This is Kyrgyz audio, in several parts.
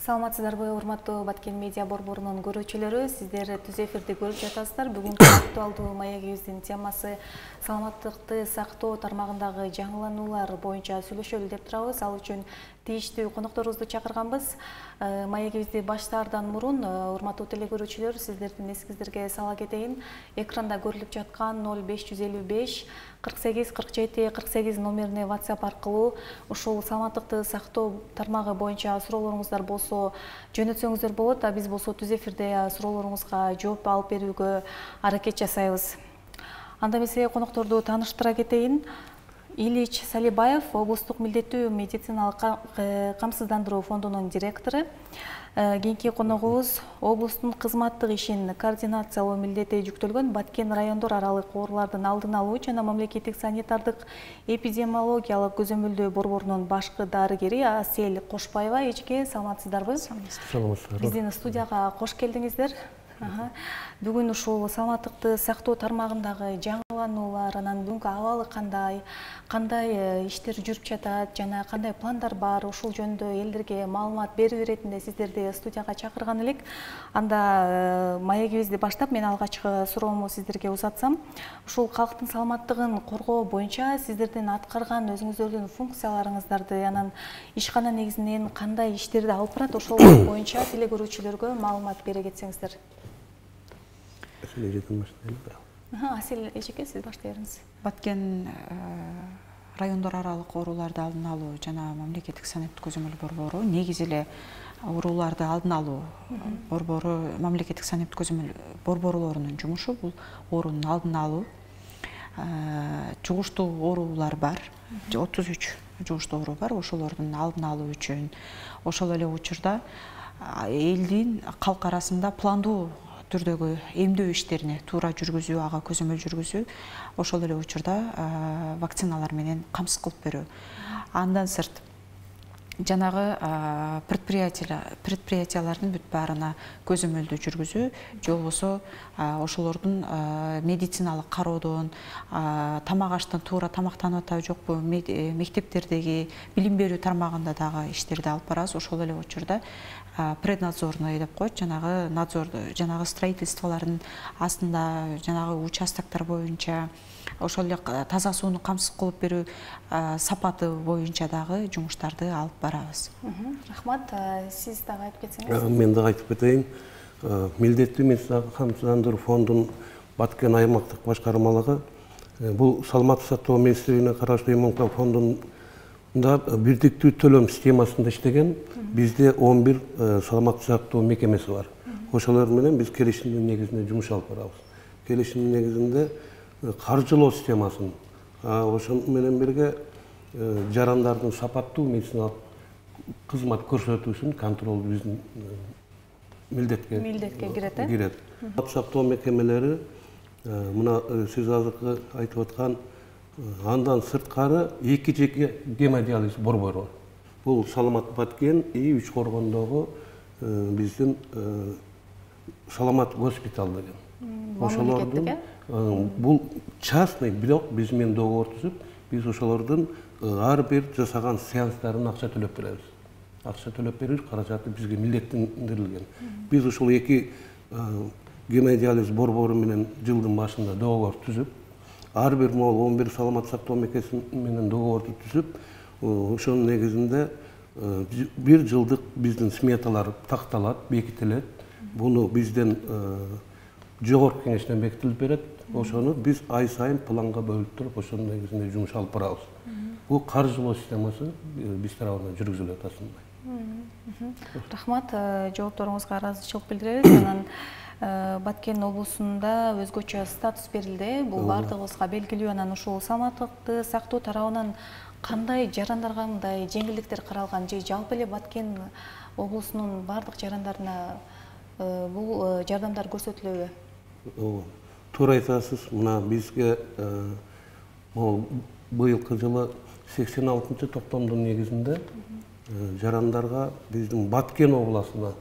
Саламатсыздарбы, урматтуу Баткен медиа борборунун көрүүчүлөрү, сиздер түз эфирди көрүп жатасыздар. Бүгүнкү актуалдуу маегибиздин темасы саламаттыкты сактоо тармагындагы жаңылануулар боюнча сүйлөшөлү деп турабыз. Ал үчүн тийиштүү конокторубузду чакырганбыз. Маегибизди баштаардан мурун, урматтуу теле көрүүчүлөр, сиздердин эсиңиздерге сала кетейин. Экранда көрүлүп жаткан 0555 48 47 48 номерине WhatsApp аркылуу ушул саламаттыкты сактоо тармагы боюнча суроолоруңуздар болсо жөнөтсөңүздөр болот. Биз болсо түз эфирде суроолоруңузга жооп алып берүүгө аракет жасайбыз. Анда эмесе конокторду тааныштыра кетейин. Ильич Салибаев, облустук милдеттүү медициналык камсыздандыруу фондунун директору. Кийинки коногубуз облустун кызматтык ишин координациялоо милдети жүктөлгөн Баткен райондор аралык оорулардын алдын алуу жана мамлекеттик санитардык эпидемиологиялык көзөмөлдөө борборунун башкы дарыгери Асель Кошпаева. Эжеке, саламатсыздарбы? Саламатсыздар. Биздин студияга кош келдиңиздер. Бүгүн ушул саламаттыкты сактоо тармагындагы жаңылануулар, анан бүгүнкү абалы кандай иштер жүрүп жатат жана кандай пландар бар, ушул жөнүндө элдерге маалымат берүү иретинде сиздерди студияга чакырган элек. Анда маегибизди баштап, мен алгачкы суроомду сиздерге узатсам, ушул калктын саламаттыгын коргоо боюнча сиздердин аткарган өзүңүздөрдүн функцияларыңыздарды, анан ишкана негизинен кандай иштерди алып барат, ошол боюнча теле көрүүчүлөргө маалымат бере кетсеңиздер. Асель эжеке, сиз баштай бериңиз. Баткен райондор аралык ооруларды алдын алуу жана мамлекеттик санитардык көзөмөл борбору негизи эле ооруларды алдын алуу борбору, мамлекеттик санитардык көзөмөл борборлорунун жумушу бул оорунун алдын алуу. Жугуштуу оорулар бар, 33 жугуштуу оору бар. Ошолордун алдын алуу үчүн ошол эле учурда элдин калк арасында пландуу түрдөгү эмдөө иштерине туура жүргүзүү, ага көзөмөл жүргүзүү, ошол эле учурда вакциналар менен камсыз кылып берүү. Андан сырт жанагы предприятиялардын бүт баарына көзөмөлдү жүргүзүү, же болбосо ошолордун медициналык кароодон, тамак аштан туура тамактанып атабы жокпу, мектептердеги билим берүү тармагында дагы иштерди алып барабыз. Ошол эле учурда преднадзорный деп коет, жанагы надзор, жанагы строительстволордун астында жанагы участоктор боюнча ошол эле таза сууну камсыз кылып берүү сапаты боюнча дагы жумуштарды алып барабыз. Рахмат. Сиз дагы айтып кетсеңиз. Мен дагы айтып кетейин. Милдеттүү медициналык камсыздандыруу фондунун Баткен аймактык башкармалыгы бул саламаттык сактоо министрлигине караштуу ММК фондунда бирдиктүү төлөм системасында иштеген. Бизде 11 саламаттык сактоо мекемеси бар. Ошолор менен биз келишимдин негизинде жумуш алып барабыз. Келишимдин негизинде каржылоо системасын, ошол менен бирге жарандардын сапаттуу медициналык кызмат көрсөтүүсүн контрол биздин милдетке кирет. Саламаттык сактоо мекемелери мына сиз азыркы айтып аткан андан сырткары 2 жеке гемодиализ борбору бар. Бул Саламат Баткен и Үч Коргондогу биздин Саламат госпиталь деген. Ошолордун бул частный, бирок биз менен договор түзүп, биз ошолордун ар бир жасаган сеанстарын акча төлөп беребиз. Акча төлөп берүү каражаты бизге милдеттендирилген. Биз ушул 2 гемодиализ борбору менен жылдын башында договор түзүп, ар бир могул 11 саламат сактоо мекемеси менен договорду түзүп, ошонун негизинде бир жылдык биздин сметалар такталат, бекитилет. Буну бизден жогорку кеңештен бекитилип берет. Ошону биз ай сайын планга бөлүп туруп, ошонун негизинде жумуш алып барабыз. Бул каржылоо системасы биз тарабынан жүргүзүлөт асында. Рахмат, жоопторуңузга ыраазычылык билдиребиз. Анан Баткен облусунда өзгөчө статус берилди. Бул бардыгыбызга белгилүү. Анан ушул саламаттыкты сактоо тарабынан кандай жарандарга мындай жеңилдиктер каралган, же жалпы эле Баткен облусунун бардык жарандарына бул жардамдар көрсөтүлөбү? Туура айтасыз. Мына бизге быйылкы жылы 86-токтомдун негизинде жарандарга биздин Баткен обласына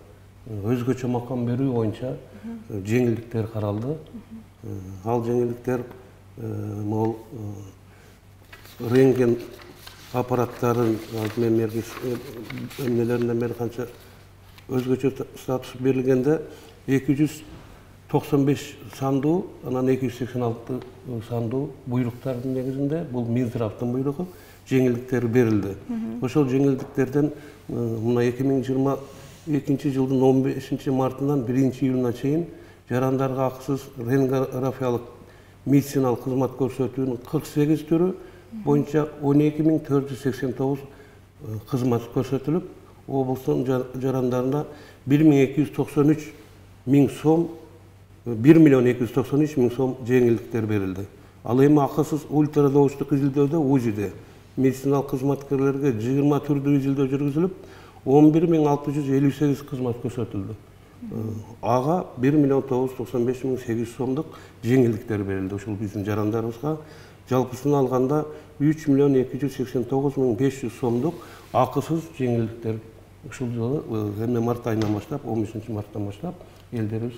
өзгөчө макам берүү боюнча жеңилдиктер каралды. Ал жеңилдиктер могул рентген аппараттарын эмнелеринден бери канча өзгөчө статус берилгенде 295 сандуу, анан 286 сандуу буйруктардын негизинде бул Минздравдын буйругу жеңилдиктер берилди. Ошол жеңилдиктерден мына 2022 жылдын 15 мартынан 1 июлуна чейин жарандарга акысыз рентгенографиялык медициналык кызмат көрсөтүүнүн 48 түрү боюнча 12.489 кызмат көрсөтүлүп, облустун жарандарына 1.293 миң сом, 1.293 миң сом жеңилдиктер берилди. Ал эми акысыз ультрадыбыштык изилдөөдө УЗИде медициналык кызматкерлерге 20 түрдүү изилдөө жүргүзүлүп, 11.658 кызмат көрсөтүлдү. Ага 1.995.800 сомдук жеңилдиктер берилди. Ушул биздин жарандарыбызга жалпысын алганда 3.289.500 сомдук акысыз жеңилдиктер ушул жылы эми март айынан баштап, 15 марттан баштап элдерибиз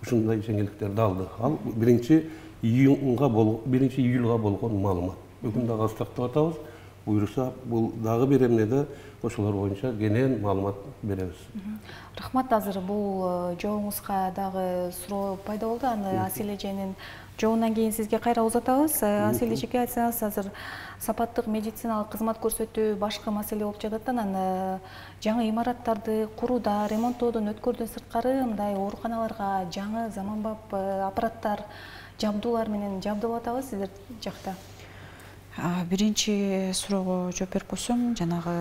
ушундай жеңилдиктерди алды. Ал 1 июлга болгон маалымат. Бүгүн дагы астактап атабыз. Буйруса, бул дагы бир эмнеде ошолор боюнча кенен маалымат беребиз. Рахмат, азыр бул жообуңузга дагы суроо пайда болду. Аны Асил эженин жообунан кийин сизге кайра узатабыз. Асил эжеге айтсаңыз, азыр сапаттык медициналык кызмат көрсөтүү башкы маселе болуп жатат. Анан жаңы имараттарды курууда, ремонттоодон өткөрдөн сырткары мындай ооруканаларга жаңы заманбап аппараттар, жабдуулар менен жабдылап атабыз сиздер жакта. Биринчи суроого жооп берип койсом, жанагы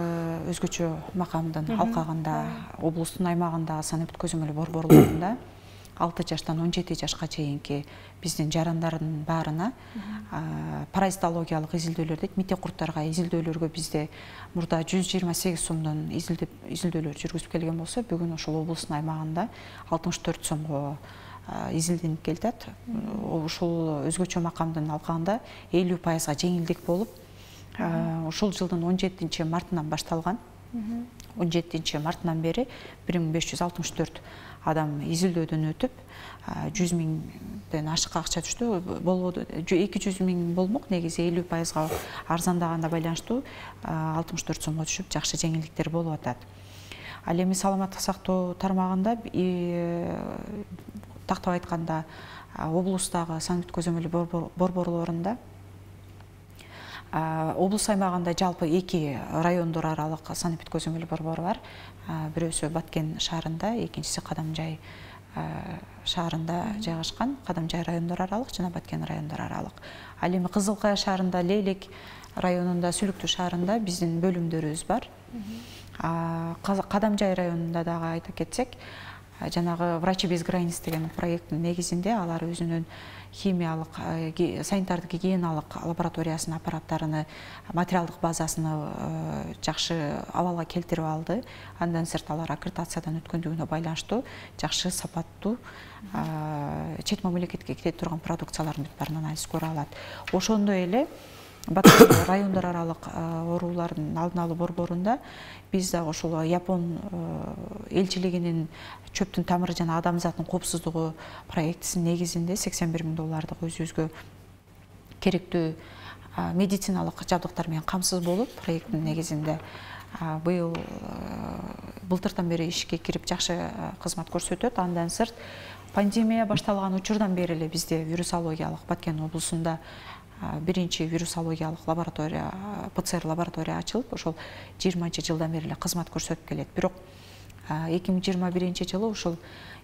өзгөчө макамдын алкагында, облустун аймагында санап өткөзмөлүү борборлорунда 6 жаштан 17 жашка чейинки биздин жарандардын баарына паразитологиялык изилдөөлөр дейт, мите курттарга изилдөөлөргө бизде мурда 128 сомдон изилдөөлөр жүргүзүп келген болсо, бүгүн ошол облустун аймагында 64 сомго изилденип келатат. Ушул өзгөчө макамдын алкагында 50% жеңилдик болуп, ушул жылдын 17 мартынан башталган. 17 мартынан бери 1564 адам изилдөөдөн өтүп, 100 миңден ашык акча түштү. 200 миң болмок, негизи 50%га арзандаганда байланыштуу 64 сомго түшүп, жакшы жеңилдиктер болуп атат. Ал эми саламаттык сактоо тармагында тактап айтканда облустагы санаптык көзөмөлүү борборлорунда облус аймагында жалпы 2 райондор аралык санаптык көзөмөлүү борбору бар. Бирөөсү Баткен шаарында, экинчиси Кадамжай шаарында жайгашкан. Кадамжай райондор аралык жана Баткен райондор аралык. Ал эми Кызыл Кая шаарында, Лейлек районунда, Сүлүктүү шаарында биздин бөлүмдөрүбүз бар. Кадамжай районунда дагы айта кетсек, жанагы Врачи без границ деген проекттин негизинде алар өзүнүн химиялык, санитардык гигиеналык лабораториясынын аппараттарыны, материалдык базасыны жакшы абалга келтирип алды. Андан сырт алар аккредитациядан өткөндүгүнө байланыштуу жакшы сапаттуу чет мамлекетке кете турган продукциялардын бүт баарын анализ көрө алат. Ошондой эле Баткен райондор аралык оорулардын алдын алуу борборунда биз дагы ошол Япон элчилигинин чөптүн тамыры жана адамзаттын коопсуздугу проектисинин негизинде $81 миң өзүбүзгө керектүү медициналык жабдыктар менен камсыз болуп, проекттин негизинде былтыртан бери ишке кирип жакшы кызмат көрсөтөт. Андан сырт пандемия башталган учурдан бери эле бизде вирусологиялык Баткен облусунда биринчи вирусологиялык лаборатория, ПЦР лаборатория ачылып, ошол 20 жылдан бери эле кызмат көрсөтүп келет. Бирок 2021 жылы ушул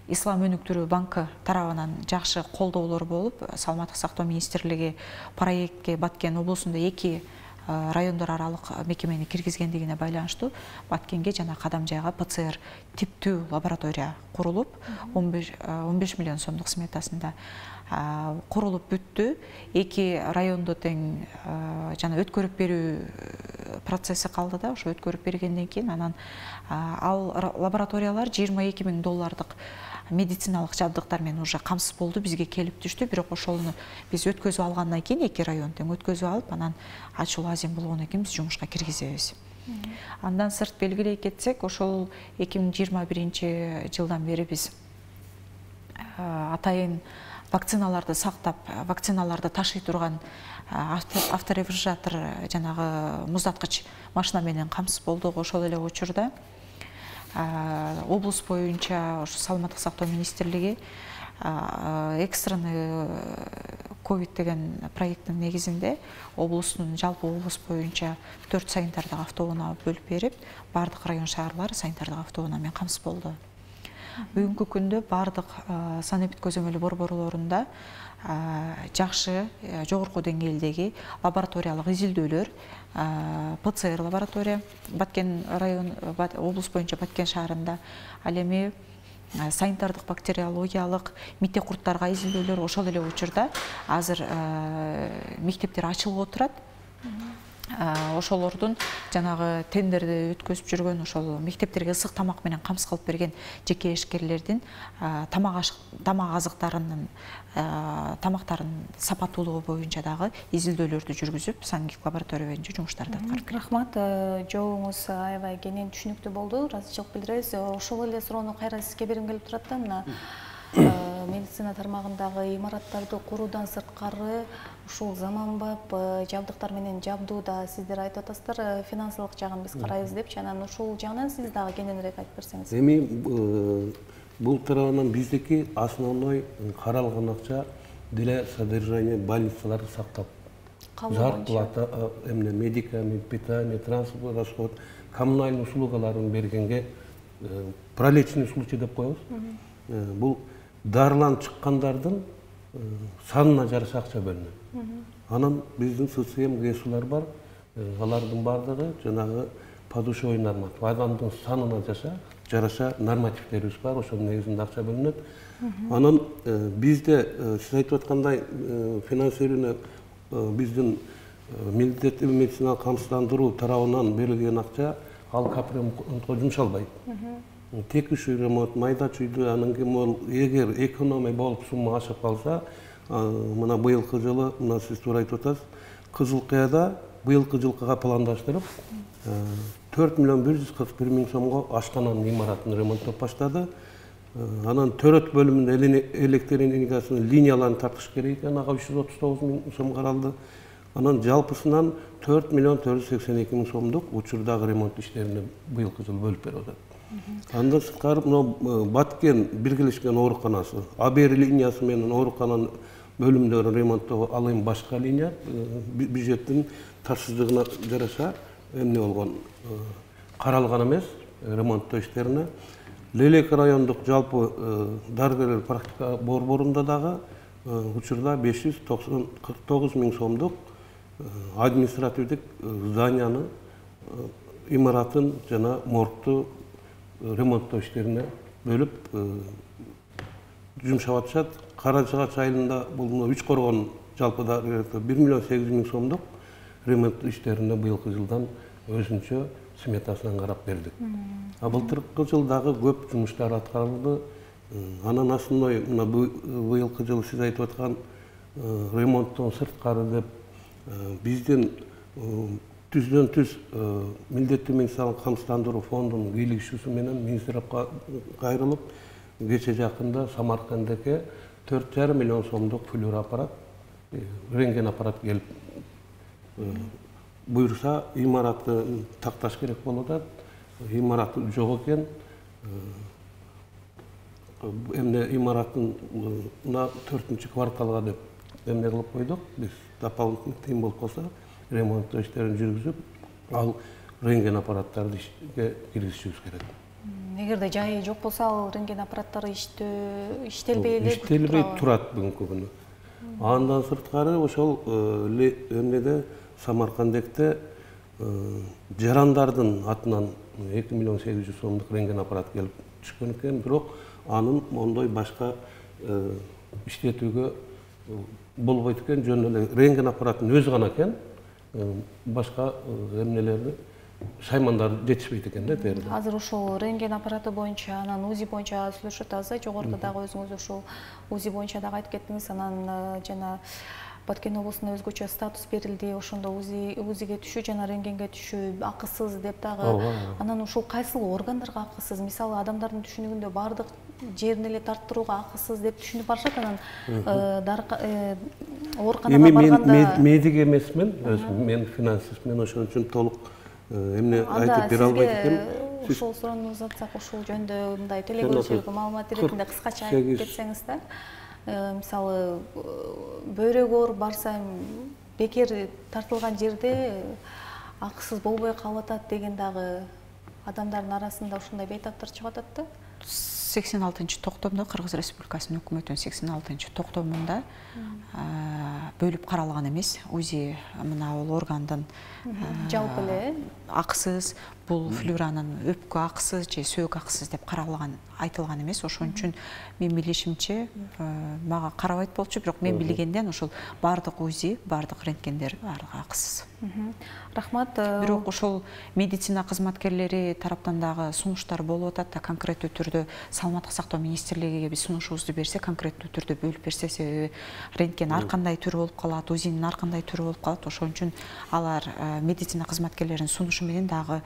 Ислам өнүктүрүү банкы тарабынан жакшы колдоолор болуп, Саламаттык сактоо министрлиги проектке Баткен облусунда 2 райондор аралык мекемени киргизгендигине байланыштуу Баткенге жана Кадамжайга ПЦР типтүү лаборатория курулуп, 15 миллион сомдук сметасында курулуп бүттү. 2 райондо тең жана өткөрүп берүү процесси калды да, ошо өткөрүп бергенден кийин анан ал лабораториялар $22 миң медициналык жабдыктар менен уже камсыз болду, бизге келип түштү. Бирок ошону биз өткөзүп алгандан кийин 2 район тең өткөзүп алып, анан ачуу азим болгондон кийин биз жумушка киргизебиз. Андан сырт белгилей кетсек, ошол 2021 жылдан бери биз атайын вакциналарды сактап, вакциналарды ташый турган авторефрижератор жанагы муздаткыч машина менен камсыз болдук. Ошол эле учурда облус боюнча ошо саламаттык сактоо министрлиги экстренный ковид деген проекттин негизинде жалпы облус боюнча 4 санитардык автоунаа бөлүп берип, бардык район шаарлар санитардык автоунаа менен камсыз болду. Бүгүнкү күндө бардык санэпид көзөмөлү борборлорунда жакшы жогорку деңгээлдеги лабораториялык изилдөөлөр, ПЦР лаборатория Баткен район облус боюнча Баткен шаарында, ал эми санитардык бактериологиялык митте курттарга изилдөөлөр ошол эле учурда азыр мектептер ачылып отурат. Ошолордун жанагы тендерди өткөзүп жүргөн ошол мектептерге ысык тамак менен камсыз кылып берген жеке ишкерлердин тамак азыктарынын тамактарын сапаттуулугу боюнча дагы изилдөөлөрдү жүргүзүп, сангик лаборатория боюнча жумуштарды аткарып келет. Рахмат, жообуңуз аябай кенен түшүнүктүү болду. Ыраазычылык билдиребиз. Ошол эле суроону кайра сизге бергим келип турат да, мына медицина тармагындагы имараттарды куруудан сырткары ушул заманбап жабдыктар менен жабдууда сиздер айтып атасыздар, финансылык жагын биз карайбыз депчи, анан ушул жагынан сиз дагы кененирээк айтып берсеңиз. Эми бул тарабынан биздики основной каралган акча деле содержание больницаларды сактап, зарплата, медикамент, питание, транспорт расход, коммунальный услугаларын бергенге пролечный случай деп коебуз. Бул дарыланып чыккандардын санына жараша акча бөлүнөт. Анан биздин ССМ ГСУлар бар, алардын бардыгы жанагы подушевой норматив, адамдын санына жараша нормативтерибиз бар, ошонун негизинде акча бөлүнөт. Анан бизде сиз айтып аткандай финансирование биздин милдеттүү медициналык камсыздандыруу тарабынан берилген акча ал капремонтко жумшалбайт. Текущий ремонт, майда чүйдү, анан кийин эгер экономия болуп сумма ашып калса, мына быйылкы жылы, мына сиз туура айтып атасыз, Кызыл Кыяда быйылкы жылкыга пландаштырып 4 миллион 141 миң сомго ашкананын имаратын ремонттоп баштады. Анан төрөт бөлүмүнүн электр энергиясынын линияларын тартыш керек экен, ага 339 миң сом каралды. Анан жалпысынан 4 миллион 482 миң сомдук учурдагы ремонт иштерине быйылкы жылы бөлүп берип атат. Андан сырткары Баткен биргелешкен ооруканасы, АБР линиясы менен оорукананын бөлүмдөрүн ремонттоо, ал эми башка линия, бюджеттин тарсыздыгына жараша эмне болгон, каралган эмес ремонттоо иштерине. Лелек райондук жалпы дарыгерлер практика борборунда дагы учурда 549 миң сомдук административдик зданияны, имаратын жана моргту ремонттоо иштерине бөлүп жумшап атышат. Карачыгач айылында бул Үч Коргон жалпыда 1 миллион 800 миң сомдук ремонт иштерине быйылкы жылдан өзүнчө сметасынан карап бердик. Былтыркы жылдагы көп жумуштар аткарылды. Анан основной мына быйылкы жылы сиз айтып аткан ремонттон сырткары деп биздин түздөн түз милдеттүү медициналык камсыздандыруу фондунун кийлигишүүсү менен министрликке кайрылып, кече жакында Самаркандеке 4,5 миллион сомдук флюор аппарат, рентген аппарат келип буйрса, имаратты такташ керек болуп атат. Имараты жок экен. Эмне имараттын 4-чү кварталга деп эмне кылып койдук. Биз дополнительный тыйын болуп калса, ремонт иштерин жүргүзүп, ал рентген аппараттарды ишке киргизишибиз керек. Эгерде жайы жок болсо, ал рентген аппараттары иштелбей эле турат бүгүнкү күнү. Андан сырткары ошол эмнеде Самаркандекте жарандардын атынан 2 миллион 800 сомдук рентген аппарат келип түшкөн экен, бирок анын мондой башка иштетүүгө болбойт экен, жөн эле рентген аппараттын өзү гана экен, башка эмнелерди шаймандар жетишпейт экен да терде. Азыр ошол рентген аппараты боюнча, анан УЗИ боюнча сүйлөшүп атабыз, жогоруда дагы өзүңүз ошол УЗИ боюнча дагы айтып кеттиңиз, анан жана Баткен облусуна өзгөчө статус берилди, ошондо УЗИге түшүү жана рентгенге түшүү акысыз деп дагы. Анан ушул кайсыл органдарга акысыз? Мисалы, адамдардын түшүнүгүндө бардык жерин эле тарттырууга акысыз деп түшүнүп барышат, анан ооруканага барганда медик эмесмин, өзүм мен финансистмин, ошон үчүн толук эмне айтып бере албайт экен. Ушул суроону узатсак, ушул жөнүндө мындай телекөрүүчүлөргө маалымат иретинде кыскача айтып кетсеңиздер. Мисалы, бөйрөк ооруп барса бекер тартылган жерде акысыз болбой калып атат деген дагы адамдардын арасында ушундай бейтаптар чыгып атат да. 86 токтомдо Кыргыз Республикасынын өкмөтүнүн 86 токтомунда бөлүп каралган эмес. УЗИ мына бул органдын жалпы эле акысыз, бул флюранын өпкө акысыз же сөөк акысыз деп каралган айтылган эмес. Ошон үчүн мен билишимче мага карабайт болчу, бирок мен билгенден ошол бардык УЗИ, бардык рентгендер бардыгы акысыз. Рахмат. Бирок ошол медицина кызматкерлери тараптан дагы сунуштар болуп атат да, конкреттүү түрдө Саламаттык сактоо министрлигине биз сунушубузду берсе, конкреттүү түрдө бөлүп берсе, себеби рентген ар кандай түрү болуп калат, УЗИнин ар кандай түрү болуп калат. Ошон үчүн алар медицина кызматкерлеринин сунушу менен дагы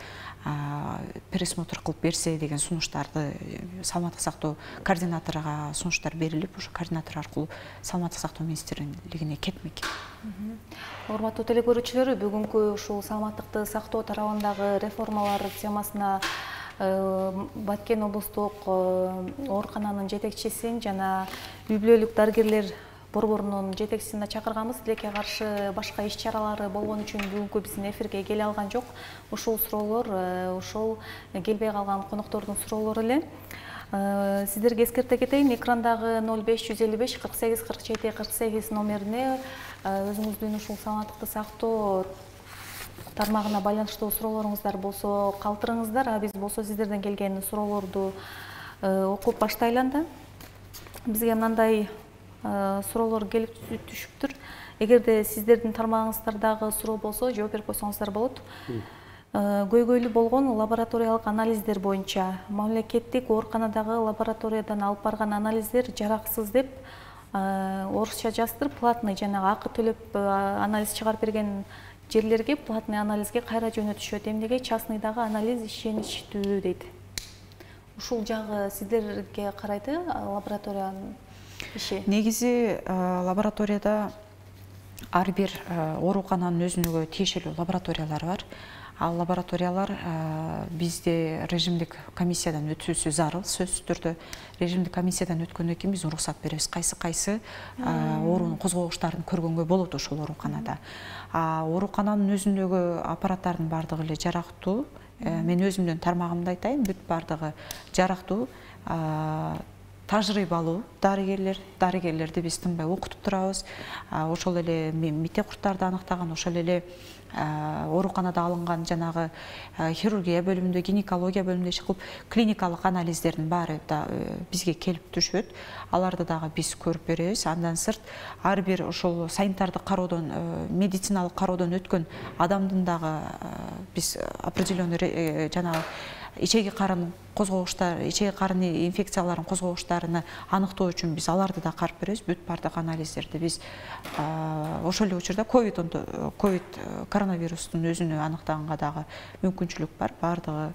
пересмотр кылып берсе деген сунуштарды Саламаттык сактоо координаторуга сунуштар берилип, ошо координатор аркылуу Саламаттык сактоо министрлигине кетмек. Урматтуу телекөрүүчүлөр, бүгүнкү ушул саламаттыкты сактоо тарабындагы реформалар темасына Баткен облустук оорукананын жетекчисин жана үй бүлөлүк дарыгерлер борборунун жетекчисин чакырганбыз. Тилекке каршы башка иш-чаралары болгон үчүн бүгүнкү биздин эфирге келе алган жок. Ушул суроолор ошол келбей калган коноктордун суроолору эле. Сиздерге эскерте кетейин, экрандагы 0555 48 47 48 номерине өзүңүздүн ушул саламаттыкты сактоо тармагына байланыштуу суроолоруңуздар болсо калтырыңыздар, а биз болсо сиздерден келген суроолорду окуп баштайлы анда. Бизге мындай суроолор келип түшүптүр. Эгерде сиздердин тармагыңыздардагы суроо болсо жооп берип койсоңуздар болот. Көйгөйлүү болгон лабораториялык анализдер боюнча мамлекеттик ооруканадагы лабораториядан алып барган анализдер жараксыз деп орусча жаздырып, платный жанагы акы төлөп анализ чыгарып берген жерлерге платный анализге кайра жөнөтүшөт. Эмнеге частныйдагы анализ ишеничтүү дейт. Ушул жагы сиздерге карайты лабораториянын иши? Негизи лабораторияда ар бир оорукананын өзүнө тиешелүү лабораториялар бар. Ал лабораториялар бизде режимдик комиссиядан өтүүсү зарыл, сөзсүз түрдө. Режимдик комиссиядан өткөндөн кийин биз уруксат беребиз. Кайсы оорунун козгогучтарын көргөнгө болот ошол ооруканада. Оорукананын өзүндөгү аппараттардын бардыгы эле жарактуу. Мен өзүмдүн тармагымды айтайын, бүт бардыгы жарактуу. Тажрыйбалуу дарыгерлерди биз тынбай окутуп турабыз. Ошол эле мите курттарды аныктаган, ошол эле ооруканада алынган жанагы хирургия бөлүмүндө, гинекология бөлүмүндө иш кылып, клиникалык анализдердин баары да бизге келип түшөт. Аларды дагы биз көрүп беребиз. Андан сырт ар бир ошол санитардык кароодон, медициналык кароодон өткөн адамдын дагы биз определенный жанагы ичеги карын козгогучтар, ичеги карын инфекцияларын козгогучтарыны аныктоо үчүн биз аларды да карап беребиз. Бүт бардык анализдерди биз ошол эле учурда ковид коронавирустун өзүнө аныктаганга дагы мүмкүнчүлүк бар. Бардыгы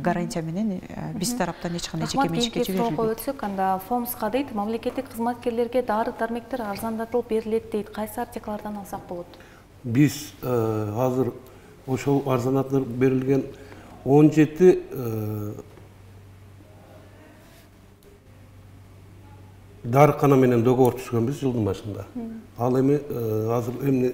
гарантия менен биз тараптан эч кандай жеке менчикке жиберилбейт. Суроо өтсөк, анда ФОМСка дейт, мамлекеттик кызматкерлерге дары-дармектер арзандатылып берилет дейт. Кайсы артиклардан алсак болот? Биз азыр ошол арзандатылып берилген 17 дарыкана менен договор түзгөнбүз жылдын башында. Ал эми азыр эмне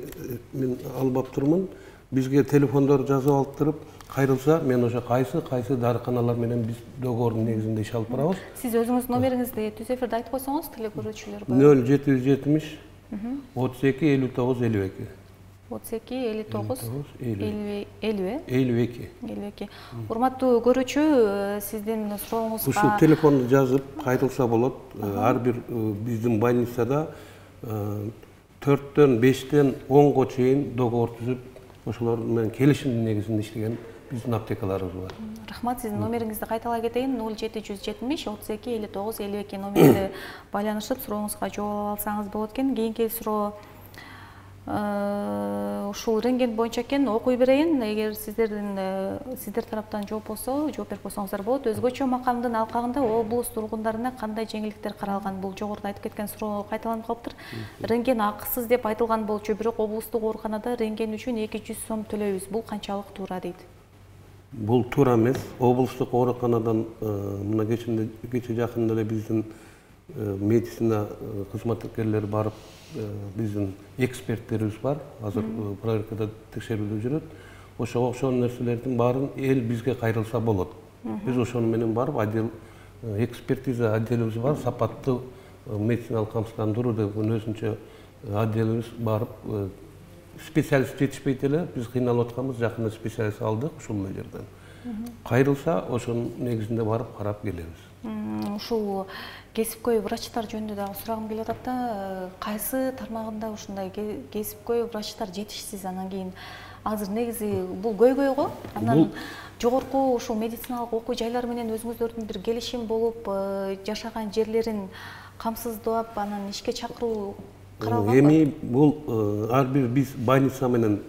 мен албап турмун, бизге телефондор жазып алып туруп, кайрылса, мен ошо кайсы дарыканалар менен биз договордун негизинде иш алып барабыз. Сиз өзүңүз номериңизди түз эфирде айтып койсоңуз, телекөрүүчүлөр 0770 32 59 52. 32 59 52. Урматтуу көрүүчү, сиздин сурооңузга ушул телефонду жазып кайрылса болот. Ар бир биздин больницада 4-төн 5-тен 10го чейин договор түзүп, ошолор менен келишимдин негизинде иштеген биздин аптекаларыбыз бар. Рахмат, сиздин номериңизди кайталай кетейин. 0770 32 59 52 номерине байланышып сурооңузга жооп ала алсаңыз болот экен. Кийинки суроо ушул рентген боюнча экен, окуй берейин. Эгер сиздер тараптан жооп болсо, жооп берип койсоңуздар болот. Өзгөчө макамдын алкагында облус тургундарына кандай жеңилдиктер каралган? Бул жогоруда айтып кеткен суроо кайталанып калыптыр. Рентген акысыз деп айтылган болчу, бирок облустук ооруканада рентген үчүн 200 сом төлөйбүз. Бул канчалык туура дейт? Бул туура эмес. Облустук ооруканадан мына кече жакында эле биздин медицина кызматкерлери барып, биздин эксперттерибиз бар, азыр проверкада текшерүүдө жүрөт. Ошого окшогон нерселердин баарын эл бизге кайрылса болот. Биз ошону менен барып, экспертиза отделибиз бар, сапаттуу медициналык камсыздандыруу деген өзүнчө отделибиз барып, специалист жетишпейт эле, биз кыйналып атканбыз, жакында специалист алдык ушул жерден. Кайрылса, ошонун негизинде барып карап келебиз. Ушул кесипкөй врачтар жөнүндө дагы сурагым келип атат да, кайсы тармагында ушундай кесипкөй врачтар жетишсиз? Анан кийин азыр негизи бул көйгөй го. Анан жогорку ушул медициналык окуу жайлар менен өзүңүздөрдүн бир келишим болуп, жашаган жерлерин камсыздап, анан ишке чакыруу каралганбы? Эми бул ар бир биз больница менен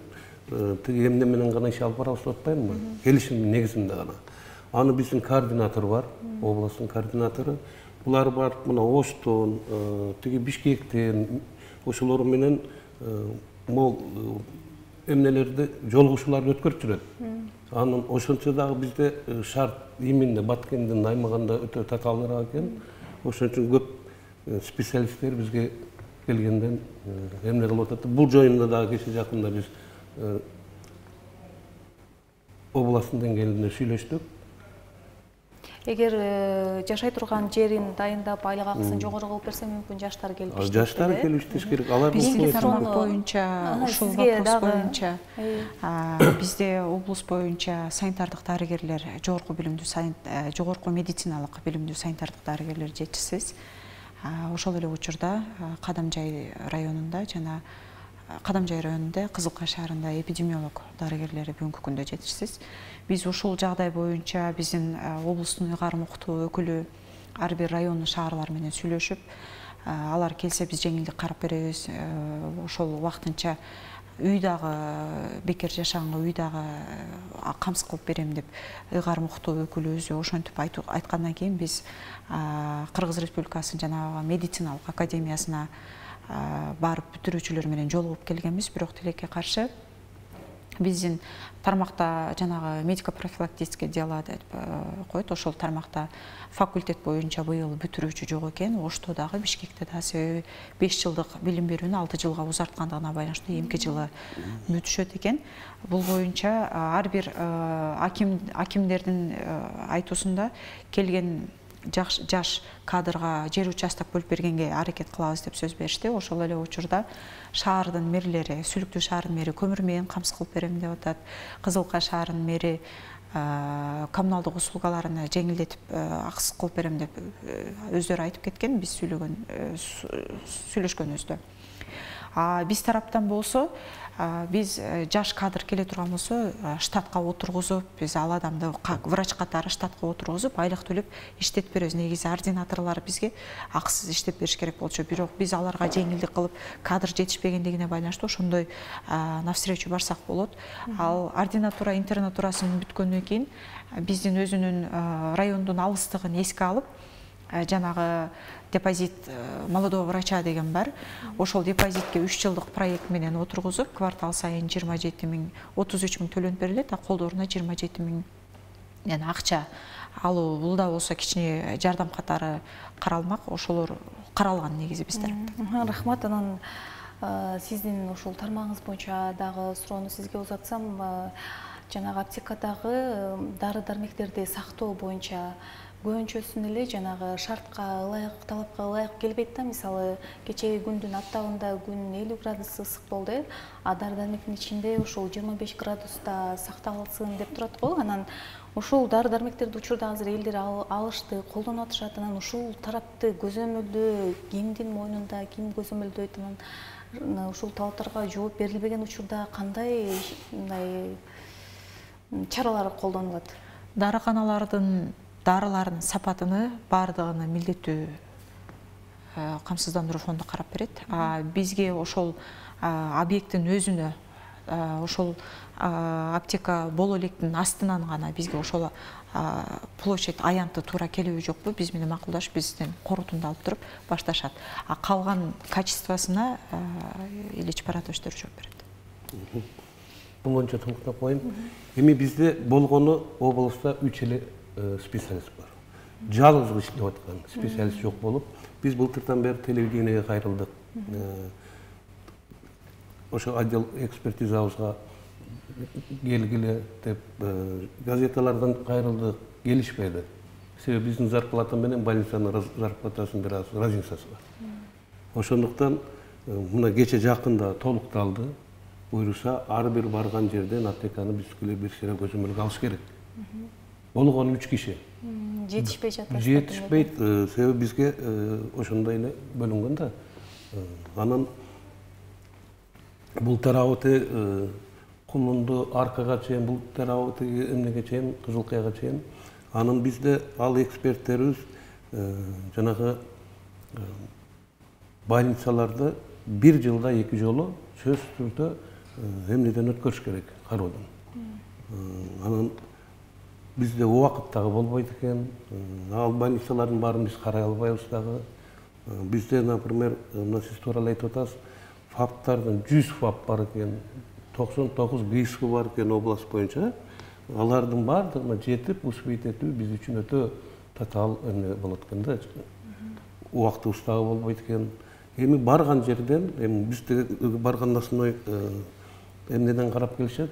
тиги эмне менен гана иш алып барабыз деп атпаймынбы? Келишим негизинде гана. Аны биздин координатор бар, областын координатору. Булар барып, мына Оштон, тиги Бишкектен, ошолор менен мол эмнелерди, жолугушууларды өткөрүп жүрөт. Анын ошончо дагы бизде шарт именно Баткендин аймагында өтө татаалыраак экен. Ошон үчүн көп специалисттер бизге келгенден эмне кылып атат. Бул жайында дагы кече жакында биз областтын деңгээлинде сүйлөштүк. Эгер жашай турган жерин дайындап, айлык акысын жогору кылып берсе, мүмкүн жаштар келип иштеш керек. Жаштар келип иштеш керек. Алар бизге тармак боюнча, ушул вопрос боюнча бизде облус боюнча санитардык дарыгерлер, жогорку медициналык билимдүү санитардык дарыгерлер жетишсиз. Ошол эле учурда Кадамжай районунда жана Кадамжай районунда, Кызылкай шаарында эпидемиолог дарыгерлери бүгүнкү күндө жетишсиз. Биз ушул жагдай боюнча биздин облустун ыйгарым уктуу өкүлү ар бир райондун шаарлар менен сүйлөшүп, алар келсе биз жеңилдик карап беребиз. Ошол убактынча үй дагы бекер жашаганга үй дагы камсыз кылып берем деп ыйгарым уктуу өкүлүбүз ошентип айткандан кийин биз Кыргыз Республикасынын жанагы медициналык академиясына барып бүтүрүүчүлөр менен жолугуп келгенбиз, бирок тилекке каршы биздин тармакта жанагы медико-профилактическое дело деп коет, ошол тармакта факультет боюнча быйыл бүтүрүүчү жок экен. Ошто дагы, Бишкекте да себеби 5 жылдык билим берүүнү 6 жылга узарткандыгына байланыштуу эмки жылы бүтүшөт экен. Бул боюнча ар бир акимдердин айтуусунда келген жаш кадрга жер участок бөлүп бергенге аракет кылабыз деп сөз беришти. Ошол эле учурда шаардын мэрлери, Сүлүктүү шаарынын мэри көмүр менен камсыз кылып берем деп атат. Кызылкай шаарынын мэри коммуналдык услугаларына жеңилдетип акысыз кылып берем деп өздөрү айтып кеткен, биз сүйлөшкөнүбүздө. Биз тараптан болсо, биз жаш кадр келе турган болсо, штатка отургузуп, биз ал адамды врач катары штатка отургузуп, айлык төлөп иштетип беребиз. Негизи ординаторлор бизге акысыз иштеп бериш керек болчу. Бирок биз аларга жеңилдик кылып, кадр жетишпегендигине байланыштуу ошондой навстречу барсак болот. Ал ординатура, интернатурасын бүткөндөн кийин биздин өзүнүн райондун алыстыгын эске алып, жанагы депозит молодого врача деген бар. Ошол депозитке 3 жылдык проект менен отургузуп, квартал сайын 27 миң, 33 миң төлөнүп берилет, колдоруна 27 миң акча алуу. Бул да болсо кичине жардам катары каралмак. Ошолор каралган негизи биз тараптан. Рахмат. Анан сиздин ушул тармагыңыз боюнча дагы суроону сизге узатсам, жанагы аптекадагы дары-дармектерди сактоо боюнча көбүнчөсүн эле жанагы шартка ылайык, талапка ылайык келбейт да. Мисалы, кечеги күндүн аптабында күн 50 градус ысык болду, дары-дармектин ичинде ушул 25 градуста сакталсын деп турат го. Анан ушул дары-дармектерди учурда азыр элдер алышты, колдонуп атышат. Анан ушул тарапты көзөмөлдөө кимдин мойнунда, ким көзөмөлдөйт? Анан ушул талаптарга жооп берилбеген учурда кандай чаралар колдонулат? Дарыканалардын дарылардын сапатыны бардыгыны милдеттүү камсыздандыруу фонду карап берет. Бизге ошол объекттин өзүнө ошол аптека боло электин астынан гана бизге ошол площадь аянты туура келеби жокпу биз менен макулдашып бизден корутунду алып туруп башташат. А калган качествосуна Ильич Паратовичтер жооп берет. Бул боюнча токтоп коеюн. Эми бизде болгону облустта 3 эле специалист бар. Жалгыз иштеп аткан специалист жок болуп, биз былтырдан бери телевидениеге кайрылдык. Ошо отдел экспертизабызга келгиле деп газеталардан кайрылдык, келишпеди. Себеби биздин зарплата менен больницанын зарплатасынын бир аз разницасы бар. Ошондуктан мына кече жакында толукталды. Буйруса ар бир барган жерден аптеканы бизге бир сыйра көзөмөлгө алыш керек. Болгону 3 киши. Жетишпей жатат. Жетишпейт, себеби бизге ошондой эле бөлүнгөн да. Анан бул тарабы Кулунду аркага чейин, бул тарабы эмнеге чейин, Кызылкаяга чейин. Анын бизде ал эксперттерибиз жанагы больницаларды бир жылда 2 жолу сөзсүз түрдө эмнеден өткөрүш керек, кароодон. Анан бизде убакыт дагы болбойт экен. Ал больницалардын баарын биз карай албайбыз дагы. Бизде, например, сиз туура эле айтып атасыз, ФАПтардын 100 ФАП бар экен, 99 ГИСК бар экен область боюнча. Алардын баардыгына жетип, успеть этүү биз үчүн өтө татаал эмне болот экен да. Убактыбыз дагы болбойт экен. Эми барган жерден, эми бизде барган основной эмнеден карап келишет?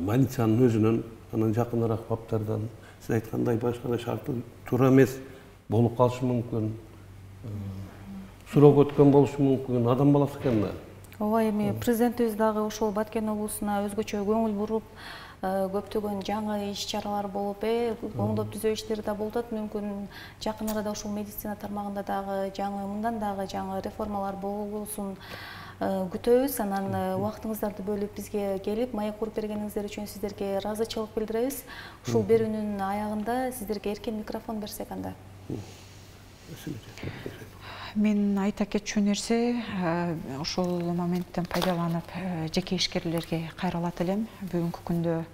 Больницанын өзүнөн, анан жакыныраак ФАПтардан, сиз айткандай башка шарты туура эмес болуп калышы мүмкүн. Суроо өткөн болушу мүмкүн, адам баласы экен да. Ооба, эми президентибиз дагы ошол Баткен облусуна өзгөчө көңүл буруп, көптөгөн жаңы иш-чаралар болуп, оңдоп түзөө иштери да болуп атат. Мүмкүн жакын арада ушул медицина тармагында дагы жаңы, мындан дагы жаңы реформалар болсун күтөбүз. Анан убактыңыздарды бөлүп бизге келип, маек куруп бергениңиздер үчүн сиздерге ыраазычылык билдиребиз. Ушул берүүнүн аягында сиздерге эркен микрофон берсек анда. Мен айта кетчү нерсе, ошол моменттен пайдаланып жеке ишкерлерге кайрылат элем. Бүгүнкү күндө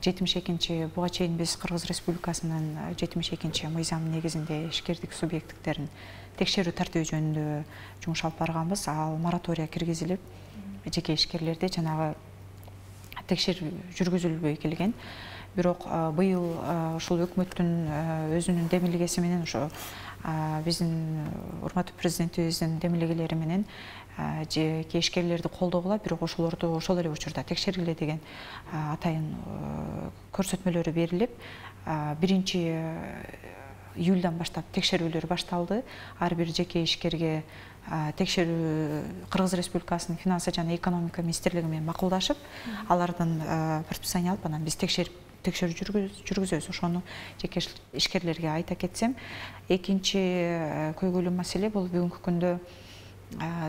72-чи буга чейин биз Кыргыз Республикасынын 72-чи мыйзамы негизинде ишкердик субъекттерин текшерүү тартиби жөнүндө жумуш алып барганбыз. Ал моратория киргизилип, жеке ишкерлерде жанагы текшерүү жүргүзүлбөй келген. Бирок быйыл ушул өкмөттүн өзүнүн демилгеси менен, ошо биздин урматтуу президентибиздин демилгелери менен жеке ишкерлерди колдогула, бирок ошолорду ошол эле учурда текшергиле деген атайын көрсөтмөлөрү берилип, 1-июлдан баштап текшерүүлөр башталды. Ар бир жеке ишкерге текшерүү Кыргыз Республикасынын финансы жана экономика министрлиги менен макулдашып, алардан предписание алып, анан биз текшерүү жүргүзөбүз. Ошону жеке ишкерлерге айта кетсем, экинчи көйгөйлүү маселе бул бүгүнкү күндө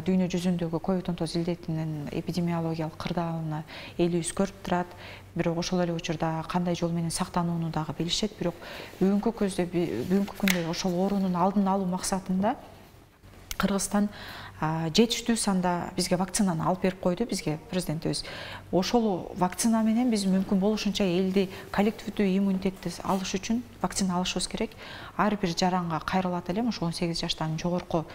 дүйнө жүзүндөгү COVID-19 илдетинин эпидемиологиялык кырдаалына элибиз көрүп турат. Бирок ошол эле учурда кандай жол менен сактанууну дагы билишет. Бирок бүгүнкү күндө ошол оорунун алдын алуу максатында Кыргызстан жетиштүү санда бизге вакцинаны алып берип койду, бизге президентибиз. Ошол вакцина менен биз мүмкүн болушунча элди коллективдүү иммунитетти алыш үчүн вакцина алышыбыз керек. Ар бир жаранга кайрылат элем, ошо 18 жаштан жогорку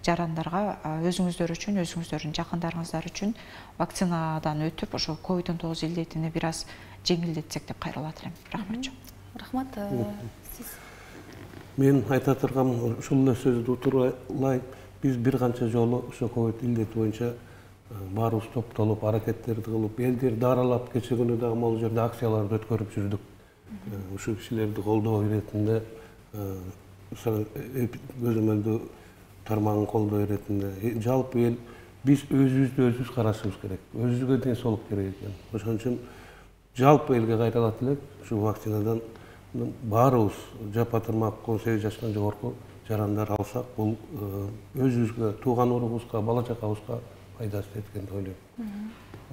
жарандарга өзүңүздөр үчүн, өзүңүздөрдүн жакындарыңыздар үчүн вакцинадан өтүп, ошо COVID-19 илдетини бир аз жеңилдетсек деп кайрылат элем. Рахмат. Рахмат. Сиз? Мен айта турган ушул эле сөздү утурлайм. Биз бир канча жолу ошо ковид илдети боюнча баарыбыз топтолуп, аракеттерди кылып, элдерди аралап, кече күнү дагы могу жерде акцияларды өткөрүп жүрдүк. Ушул кишилерди колдоо иретинде, көзөмөлдүү тармагын колдоо иретинде, жалпы эл биз өзүбүздү карашыбыз керек. Өзүбүзгө ден соолук керек экен. Ошон үчүн жалпы элге кайрылат элек, ушул вакцинадан баарыбыз жапа-тырмак 18 жаштан жогорку жарандар алсак, бул өзүбүзгө, тууган урубузга, бала чакабызга пайдасы жеткен деп ойлойм.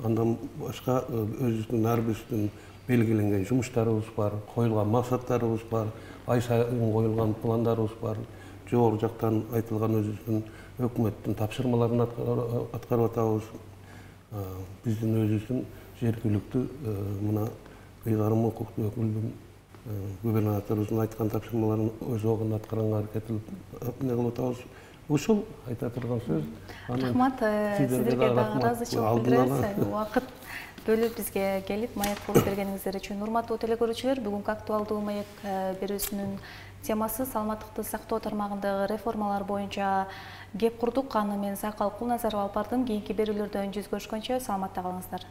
Андан башка өзүбүздүн ар бирибиздин белгиленген жумуштарыбыз бар, коюлган максаттарыбыз бар, ай сайын коюлган пландарыбыз бар, жогору жактан айтылган өзүбүздүн өкмөттүн тапшырмаларын аткарып атабыз. биздин өзүбүздүн жергиликтүү мына ыйгарым укуктуу өкүлдүн губернаторубуздун айткан тапшырмаларын өз убагында аткарганга аракет кылып эмне кылып атабыз. Ушул айта турган сөз. Рахмат, сиздерге дагы ыраазычылык билдиребиз. Убакыт бөлүп бизге келип маек болуп бергениңиздер үчүн. Урматтуу телекөрүүчүлөр, бүгүнкү актуалдуу маек берүүсүнүн темасы саламаттыкты сактоо тармагындагы реформалар боюнча кеп курдук. Аны мен Сайкал Кулназарова алып бардым. Кийинки берүүлөрдөн жүз көрүшкөнчө саламатта калыңыздар.